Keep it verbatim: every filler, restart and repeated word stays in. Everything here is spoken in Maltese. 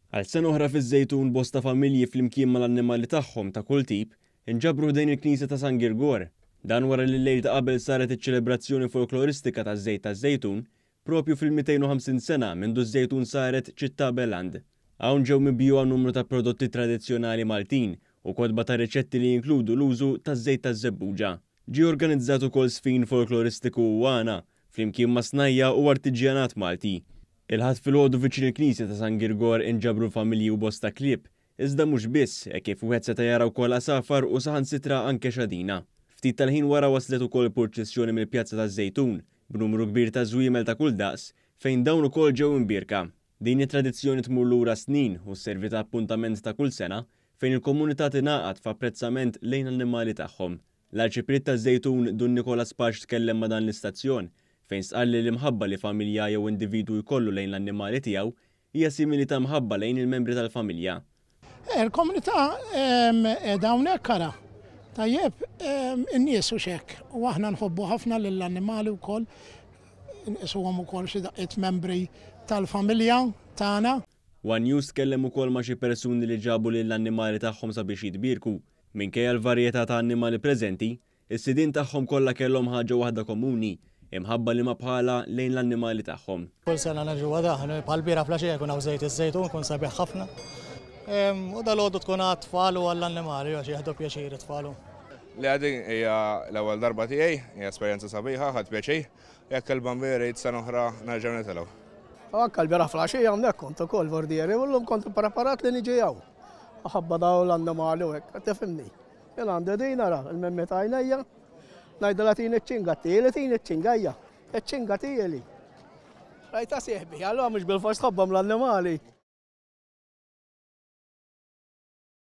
Għal sena oħra fiż-Żejtun, bosta familji flimkien mal-annimali tagħhom ta' kull tip inġabru ħdejn il-Knisja ta' San Girgor. Dan wara li l-lejl ta' qabel saret iċ-ċelebrazzjoni folkloristika taż-żejt taż-Żejtun propju fil-mitejn u ħamsin sena mindu ż-Żejtun saret ċittà beland. Hawn ġew mibjugħa numru ta' prodotti tradizzjonali Maltin u kotba ta' riċetti li jinkludu l-użu taż-żejt taż-żebbuġa. Ġie organizzat ukoll sfin folkloristiku u għana flimkien ma' snajja u artiġjanat Malti. Il-Ħadd filgħodu viċin il-Knisja ta' San Girgor inġabru familji u bosta klieb, iżda mhux biss, hekk kif wieħed seta' jara wkoll għasafar u saħansitra anke xadina. Ftit tal-ħin wara waslet ukoll purċissjoni mill-Pjazza taż-Żejtun b'numru kbir ta' żwiemel ta' kull daqs fejn dawn ukoll ġew imbierka. Din it-tradizzjoni tmur lura snin u sservi ta' appuntament ta' kull sena fejn il-komunità tingħaqad f'apprezzament lejn l-annimali tagħhom. L-Arċipriet taż-Żejtun Dun Nikolas Pace tkellem ma' dan l-istazzjon fejn stqarr li l-imħabba li familja jew individwu jkollu lejn l-annimali tiegħu hija simili ta' mħabba lejn il-membri tal-familja. Il-komunità qiegħda hawnhekk ara. Tajjeb, in-nies u xek, u aħna nħobbu ħafna lill-annimali wkoll, nqisuhom ukoll xi daqqiet membri tal-familja tagħna. One News tkellem ukoll ma' xi persuni li ġabu lill-annimali tagħhom sabiex jitbierku. Minkejja l-varjetà ta' annimali preżenti, is-sidien tagħhom kollha kellhom ħaġa waħda komuni, imħabba li ma bħala lejn l-annimali tagħhom. Kull sena nerġgħu għadaħ, bħal bira flaxija jkun hawn żejt iż-żejtun, kun sabiħ ħafna. U dal-għodu tkun għat-tfal u għall-annimali, għax jieħdu pjaċir it-tfal. Li għadin hija l-ewwel darba tiegħi, hija esperjenza sabiħa, ħadd pjaċir, jekk il-bambini jrid sena oħra nerġgħu nitilgħu. Anka l-bieraħ flaxija hawnhekk kont ukoll vordieri, u llum kont preparat li niġi hawn. Ħabba dawn l-annimali u hekk, tifhimni. Jien għandi din ara, il-memmi ta' għajnejja, ngħidilha tini ċ-ċinga, tieli tini ċ-ċinga hija, iċ-ċinga tieli. Rajta sieħbi, allura mhux bil-fors tħobbhom l-annimali.